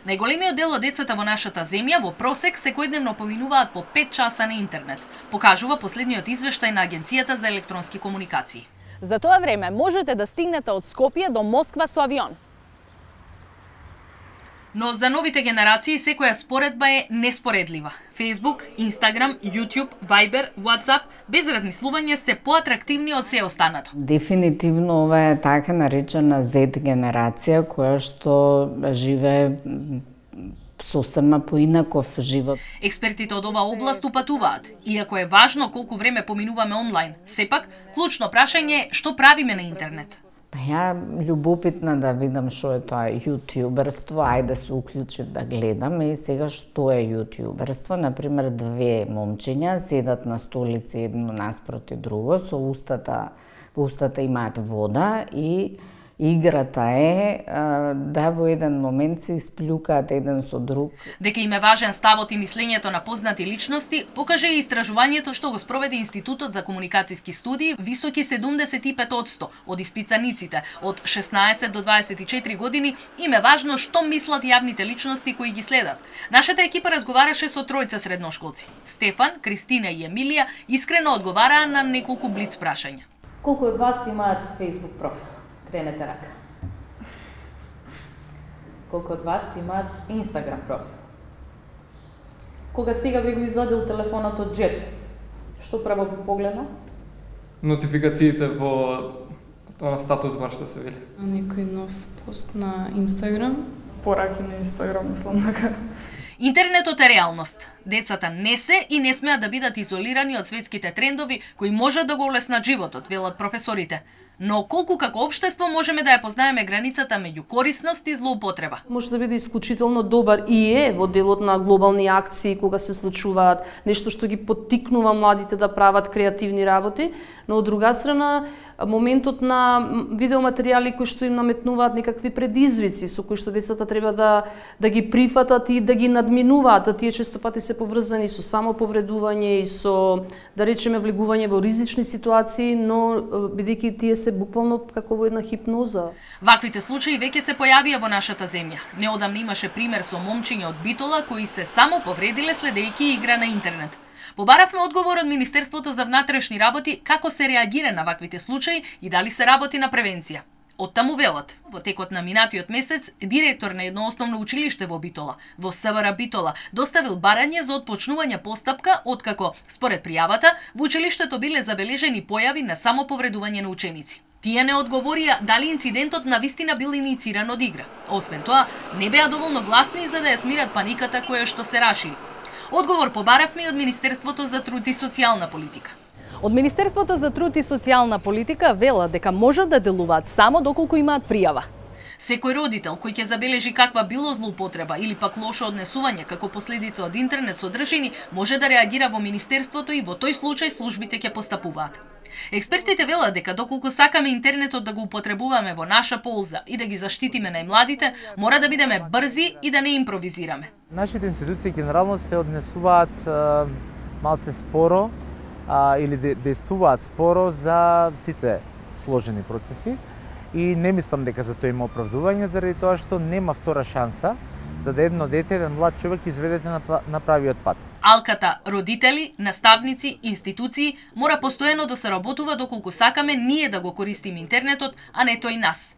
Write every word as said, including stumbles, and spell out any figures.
Најголемиот дел од децата во нашата земја во просек секојдневно поминуваат по пет часа на интернет, покажува последниот извештај на Агенцијата за електронски комуникации. За тоа време можете да стигнете од Скопје до Москва со авион. Но за новите генерации секоја споредба е неспоредлива. Facebook, Instagram, YouTube, Viber, WhatsApp, без размислување се поатрактивни од се останато. Дефинитивно ова е така наречена Z генерација која што живее сосема поинаков живот. Експертите од оваа област упатуваат, иако е важно колку време поминуваме онлайн, сепак клучно прашање е што правиме на интернет. Па ја љубопитна да видам што е тоа јутјуберство, ајде се уклучив да гледам и сега што е јутјуберство. Например, две момчиња седат на столици едно наспроти друго, со устата, во устата имаат вода и играта е да во еден момент се исплюкаат еден со друг. Дека им е важен ставот и мислењето на познати личности, покаже и истражувањето што го спроведе Институтот за комуникацијски студии, високи седумдесет и пет одсто од испитаниците од шеснаесет до дваесет и четири години им е важно што мислат јавните личности кои ги следат. Нашата екипа разговараше со тројца средношколци. Стефан, Кристина и Емилија искрено одговараа на неколку блиц прашања. Колку од вас имаат Facebook профил? Кренете рака. Колку од вас имаат Instagram профил? Кога сега би го извадил телефонот од джеб, што прво би погледнал? Нотификациите во тоа на статус бар што се вели. Некој нов пост на Instagram, пораки на Instagram, мислам дека. Интернетот е реалност. Децата не се и не смеат да бидат изолирани од светските трендови кои можат да го олеснат животот, велат професорите. Но колку како општество можеме да ја познаеме границата меѓу корисност и злоупотреба? Може да биде исклучително добар и е во делот на глобални акции кога се случуваат, нешто што ги поттикнува младите да прават креативни работи, но од друга страна моментот на видеоматеријали кои што им наметнуваат некакви предизвици со кои што децата треба да да ги прифатат и да ги надминуваат, а тие често пати се поврзани со самоповредување и со, да речеме, влегување во ризични ситуации, но бидејќи тие се буквално како во една хипноза. Ваквите случаи веќе се појавија во нашата земја. Неодамна имаше пример со момчиња од Битола кои се само повредиле следејќи игра на интернет. Побаравме одговор од Министерството за внатрешни работи како се реагира на ваквите случаи и дали се работи на превенција. Оттаму велат, во текот на минатиот месец, директор на едно основно училиште во Битола, во СВР Битола, доставил барање за отпочнување постапка, откако, според пријавата, во училиштето биле забележени појави на самоповредување на ученици. Тие не одговорија дали инцидентот навистина бил иницииран од игра. Освен тоа, не беа доволно гласни за да ја смират паниката која што се рашили. Одговор побаравме од Министерството за труд и социјална политика. Од Министерството за труд и социјална политика велат дека можат да делуваат само доколку имаат пријава. Секој родител кој ќе забележи каква било злоупотреба или пак лошо однесување како последица од интернет содржини, може да реагира во Министерството и во тој случај службите ќе постапуваат. Експертите велат дека доколку сакаме интернетот да го употребуваме во наша полза и да ги заштитиме најмладите, мора да бидеме брзи и да не импровизираме. Нашите институции генерално се однесуваат а, малце споро а, или действуваат споро за сите сложени процеси и не мислам дека за тоа има оправдување заради тоа што нема втора шанса за да едно дете, еден млад човек изведете на, на правиот пат. Алката, родители, наставници, институции мора постојано да се работува доколку сакаме ние да го користиме интернетот, а не тој нас.